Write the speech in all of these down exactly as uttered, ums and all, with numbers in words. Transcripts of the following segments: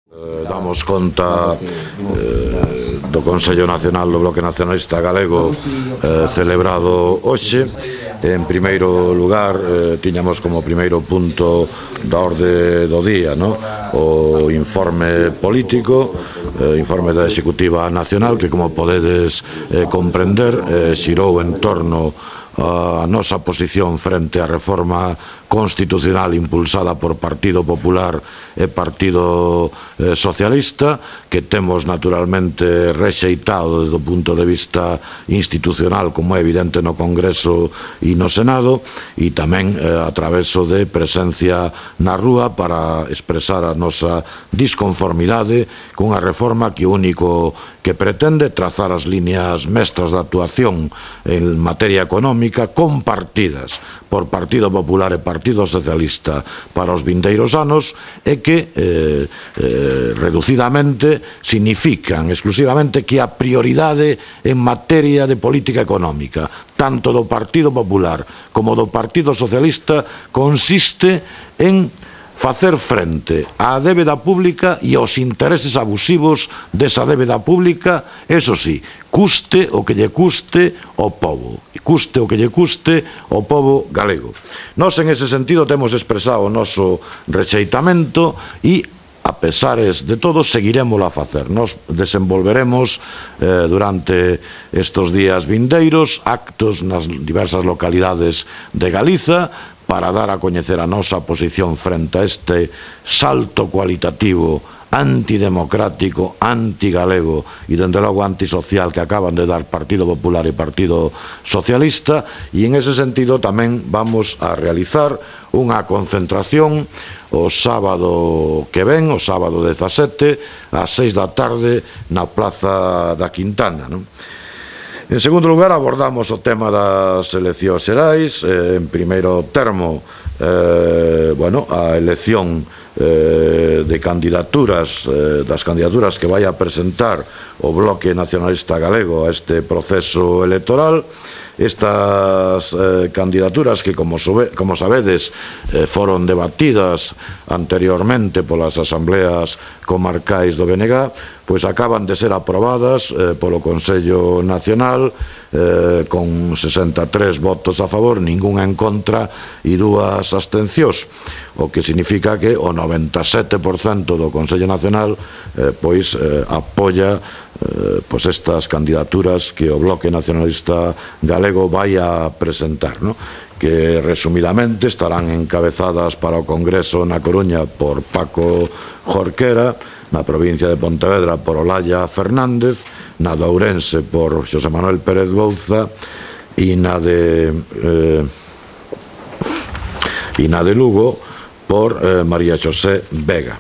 Eh, damos conta eh, do Consello Nacional do Bloque Nacionalista Galego eh, celebrado hoxe. En primeiro lugar, eh, tiñamos como primeiro punto da orde do día, no? O informe político, eh, informe da Executiva Nacional, que como podedes eh, comprender, eh, xirou en torno a nosa posición frente á reforma constitucional impulsada por Partido Popular e Partido eh, Socialista, que temos naturalmente rexeitado desde o punto de vista institucional, como é evidente no Congreso e no Senado, e tamén eh, a traveso de presencia na rúa para expresar a nosa disconformidade cunha reforma que o único que pretende trazar as líneas mestras de actuación en materia económica compartidas por Partido Popular e Partido Socialista para os vindeiros anos e que eh, eh, reducidamente significan exclusivamente que a prioridade en materia de política económica tanto do Partido Popular como do Partido Socialista consiste en facer frente á débeda pública e aos intereses abusivos desa débeda pública, eso sí, custe o que lle custe ao pobo, custe o que lle custe ao pobo galego. Nós, en ese sentido, temos expresado o noso rexeitamento e, a pesares de todo, seguiremos a facer. Nos desenvolveremos eh, durante estes días vindeiros actos nas diversas localidades de Galiza para dar a coñecer a nosa posición frente a este salto cualitativo antidemocrático, antigalego e, dende logo, antisocial que acaban de dar Partido Popular e Partido Socialista, e en ese sentido tamén vamos a realizar unha concentración o sábado que ven, o sábado dezasete, ás seis da tarde na Plaza da Quintana, non? En segundo lugar, abordamos o tema das eleccións xerais. Eh, en primeiro termo, eh, bueno, a elección eh, de candidaturas, eh, das candidaturas que vai a presentar o Bloque Nacionalista Galego a este proceso electoral. Estas eh, candidaturas que, como, sobe, como sabedes, eh, foron debatidas anteriormente polas asambleas comarcais do B N G, pois acaban de ser aprobadas eh, polo Consello Nacional eh, con sesenta e tres votos a favor, ningún en contra e dúas abstencións, o que significa que o noventa e sete por cento do Consello Nacional eh, pois eh, apoia eh, pois estas candidaturas que o Bloque Nacionalista Galego vai a presentar, no? Que resumidamente estarán encabezadas para o Congreso na Coruña por Paco Jorquera, na provincia de Pontevedra por Olalla Fernández, na de Ourense por Xosé Manuel Pérez Bouza e na de eh, e na de Lugo por eh, María Xosé Vega.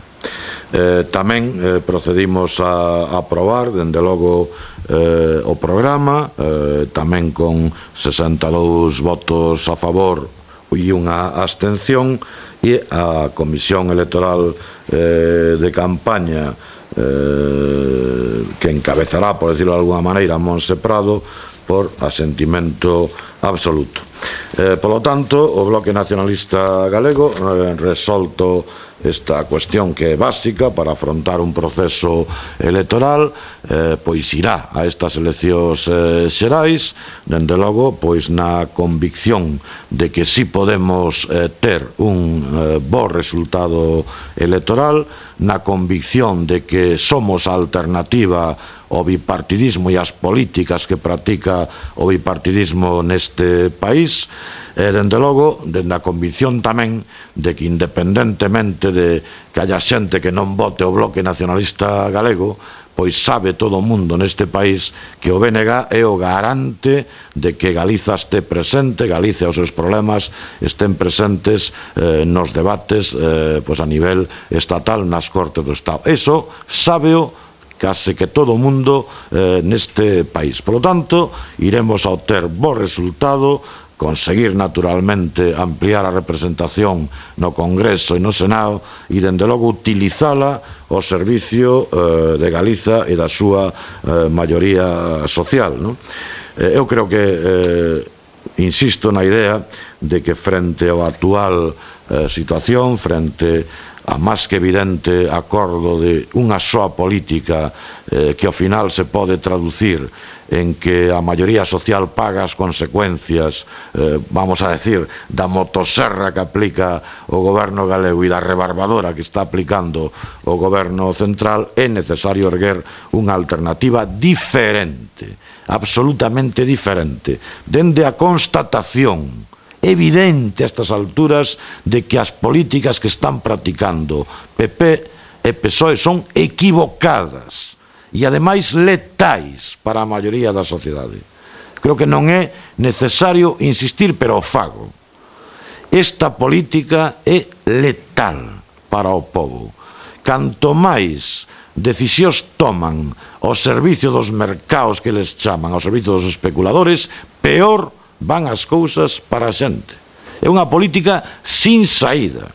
Eh, tamén eh, procedimos a, a aprobar, dende logo, eh, o programa, eh, tamén con sesenta e dous votos a favor e unha abstención, e a Comisión Electoral eh, de Campaña eh, que encabezará, por decirlo de alguna maneira, Monse Prado, por asentimento absoluto. Eh, polo tanto, o Bloque Nacionalista Galego eh, resolto esta cuestión que é básica para afrontar un proceso electoral, eh, pois irá a estas eleccións eh, xerais, dende logo, pois na convicción de que si podemos eh, ter un eh, bo resultado electoral, na convicción de que somos a alternativa ao bipartidismo e as políticas que practica o bipartidismo neste país, e, dende logo, dende a convicción tamén de que, independentemente de que haya xente que non vote o Bloque Nacionalista Galego, pois sabe todo o mundo neste país que o B N G é o garante de que Galiza este presente, Galiza e os seus problemas estén presentes eh, nos debates eh, pois a nivel estatal nas Cortes do Estado. Eso sábeo case que todo o mundo eh, neste país. Por lo tanto, iremos a obter bo resultado, conseguir naturalmente ampliar a representación no Congreso e no Senado e, dende logo, utilizala ao servicio eh, de Galiza e da súa eh, maioría social, no? Eh, eu creo que, eh, insisto na idea de que frente ao actual eh, situación, frente a máis que evidente acordo de unha soa política eh, que ao final se pode traducir en que a maioría social paga as consecuencias, eh, vamos a decir, da motoserra que aplica o goberno galego e da rebarbadora que está aplicando o goberno central, é necesario erguer unha alternativa diferente, absolutamente diferente, dende a constatación evidente a estas alturas de que as políticas que están practicando P P e P S O E son equivocadas e ademais letais para a maioría da sociedade. Creo que non é necesario insistir, pero o fago. Esta política é letal para o povo. Canto máis decisións toman ao servicio dos mercados que les chaman, ao servicio dos especuladores, peor van as cousas para a xente. É unha política sin saída.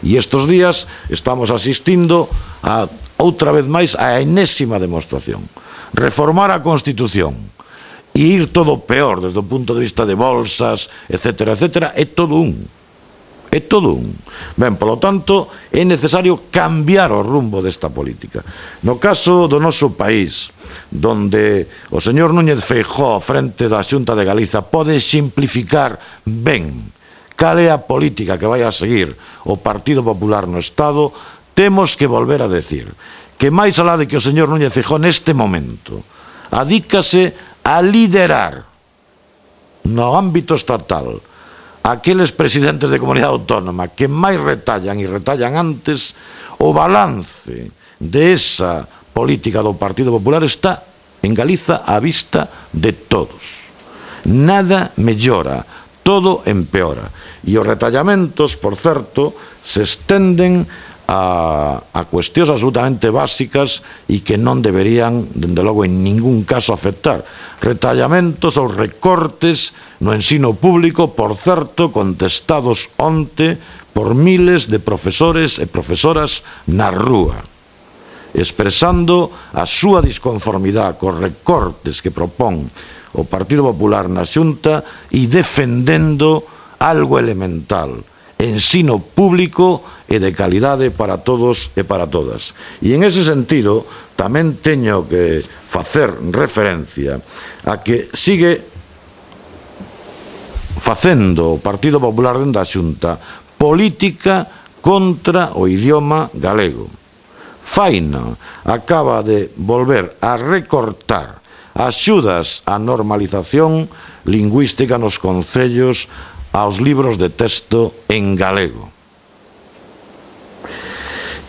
E estes días estamos asistindo a, outra vez máis, a enésima demostración. Reformar a Constitución e ir todo peor desde o punto de vista de bolsas, etcétera, etcétera, é todo un. É todo un. Ben, polo tanto, é necesario cambiar o rumbo desta política. No caso do noso país, donde o señor Núñez Feijóo, frente da Xunta de Galiza, pode simplificar ben cal é a política que vai a seguir o Partido Popular no Estado, temos que volver a decir que máis alá de que o señor Núñez Feijóo neste momento adícase a liderar no ámbito estatal aqueles presidentes de comunidade autónoma que máis retallan e retallan antes, o balance de esa política do Partido Popular está en Galiza á vista de todos. Nada mellora, todo empeora. E os retallamentos, por certo, se estenden a, a cuestións absolutamente básicas e que non deberían, dende logo, en ningún caso afectar. Retallamentos ou recortes no ensino público, por certo, contestados onte por miles de profesores e profesoras na rúa, expresando a súa disconformidade cos recortes que propón o Partido Popular na Xunta e defendendo algo elemental, ensino público e de calidade para todos e para todas. E en ese sentido tamén teño que facer referencia a que sigue facendo o Partido Popular dentro da Xunta política contra o idioma galego. Faina acaba de volver a recortar axudas á normalización lingüística nos concellos aos libros de texto en galego.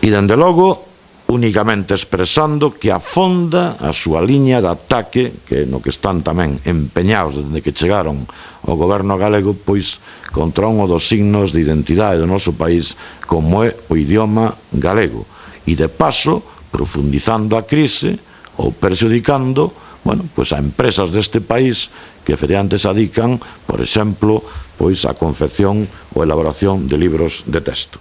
E, dende logo, únicamente expresando que afonda a súa liña de ataque, que no que están tamén empeñados desde que chegaron ao goberno galego, pois contra un dos signos de identidade do noso país, como é o idioma galego. E, de paso, profundizando a crise ou perxudicando, bueno, pois a empresas deste país que efectivamente se adican, por exemplo, pois a confección ou elaboración de libros de texto.